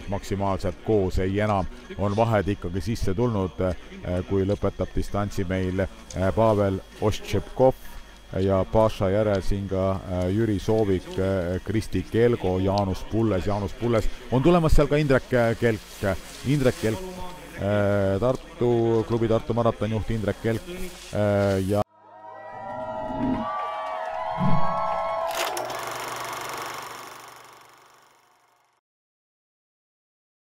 täpselt maksimaalselt koos, ei enam, on vahed ikkagi sisse tulnud, kui lõpetab distantsi meil Pavel Ostšepkov ja Paša järel siin ka Jüri Soovik, Kristi Kelgo, Jaanus Pulles on tulemas seal ka Indrek Kelk, klubi Tartu maratonjuht Indrek Kelk ja